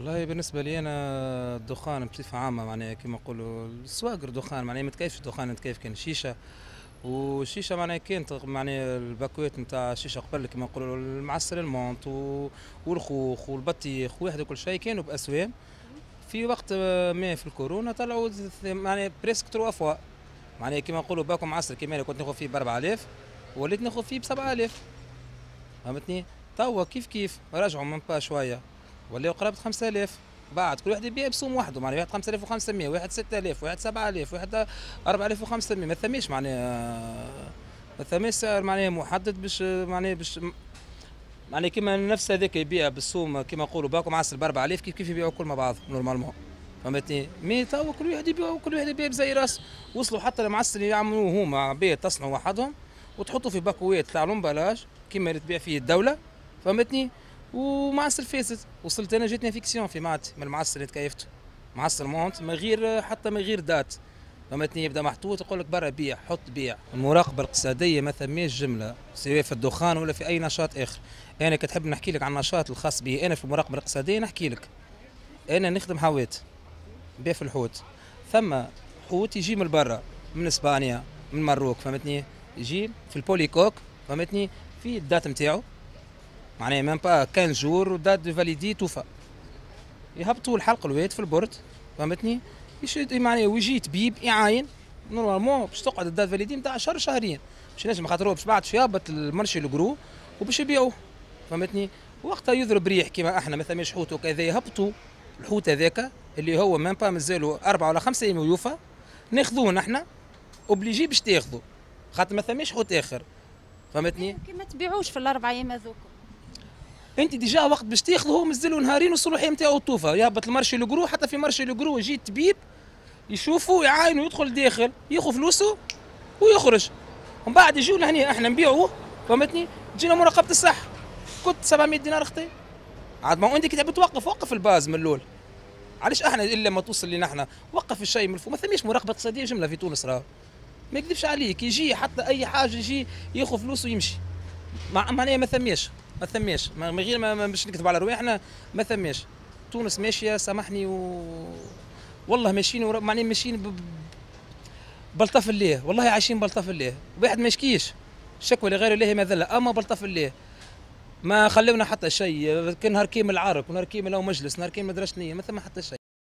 والله بالنسبة لي انا الدخان بصفة عامة معناها كما نقولوا السواقر دخان، معناها ما تكيفش الدخان، تكيف كان الشيشة. والشيشه معناها كانت معناها الباكوات نتاع الشيشة قبل كما نقولوا المعسل ال menthe والخوخ والبطيخ وواحد وكل شيء كانوا باسوام. في وقت ما في الكورونا طلعوا معناها presque trois fois، معناها كما نقولوا باكو معسل كيما كنت ناخذ فيه ب 4000 وليت ناخذ فيه ب 7000، فهمتني؟ توا كيف كيف رجعوا même pas شوية ولاو قرابة 5000. بعد كل واحد يبيع بسوم وحده، معناها واحد 5500، واحد 6000، واحد 7000، واحد 4500. ما ثماش معناها ما ثماش سعر معناها محدد باش معناها باش معناها كيما نفس هذاك يبيع بالسوم كيما نقولوا باكو معسل ب 4000 كيف كيف يبيعوا كل مع بعض normalement، فهمتني؟ mais توا كل واحد يبيع، كل واحد يبيع بزي راس. وصلوا حتى المعسل يعملوه هما عباد تصنعوا وحدهم وتحطوا في باكوات تاع l'emballage كيما اللي تبيع فيه الدوله، فهمتني؟ ومعسل فاسد. وصلت انا جاتني infection في معدتي من المعسل اللي تكيفته، معسل menthe من غير حتى من غير date، فهمتني؟ يبدا محطوط يقول لك برا بيع، حط بيع. المراقبة الاقتصادية ما ثماش جملة سواء في الدخان ولا في اي نشاط اخر. انا كتحب نحكي لك عن النشاط الخاص بي انا في المراقبة الاقتصادية، نحكي لك انا نخدم حوات، بيع في الحوت. ثم حوت يجي من برا، من اسبانيا، من مروك، فهمتني؟ يجي في ال polycoque، فهمتني؟ في ال date نتاعو معناها même pas 15 jours date de validité توفى، يهبطوا الحلق الواد في ال port، فهمتني؟ يشد معناها ويجي طبيب يعاين. normalement باش تقعد ال date validité نتاع شهر شهرين باش نجم، خاطر باش بعد يهبط ال marché le gros وباش يبيعوه، فهمتني؟ وقتها يضرب ريح كيما احنا ما ثماش حوت وكذا، يهبطوا الحوت هذاك اللي هو même pas مازالوا 4 ولا 5 ايام ويوفى، ناخذوه نحن obligé باش تاخذوا خاطر ما ثماش حوت اخر، فهمتني؟ كي ما تبيعوش في ال4 ايام هذوك؟ انت déjà وقت باش تاخذه هو مازالوا نهارين والصلاحيه نتاعو توفى، يهبط ال marché le gros. حتى في marché le gros يجي الطبيب يشوفه يعاينه يدخل داخل ياخذ فلوسه ويخرج، ومن بعد يجوا لهنا احنا نبيعوه، فهمتني؟ تجينا مراقبة الصحه، كنت 700 دينار اختي. عاد ما انت كي تحب توقف وقف ال base من الاول، علاش احنا الا ما توصل لنا احنا؟ وقف الشيء من الفوق. ما ثماش مراقبة اقتصادية جملة في تونس، راه ما يكذبش عليك يجي حتى اي حاجة يجي ياخذ فلوس ويمشي. معناها ما ثماش من غير ما باش نكذب على رواحنا، ما ثماش. تونس ماشية سامحني والله ماشيين معناها ماشيين بلطف الله، والله عايشين بلطف الله. واحد ما يشكيش، الشكوى لغير الله مذله، اما بلطف الله ما خلونا حتى شيء. كان نهار كامل عرك ونهار كامل مجلس، نهار كامل درشنيه، ما ثم حتى شيء.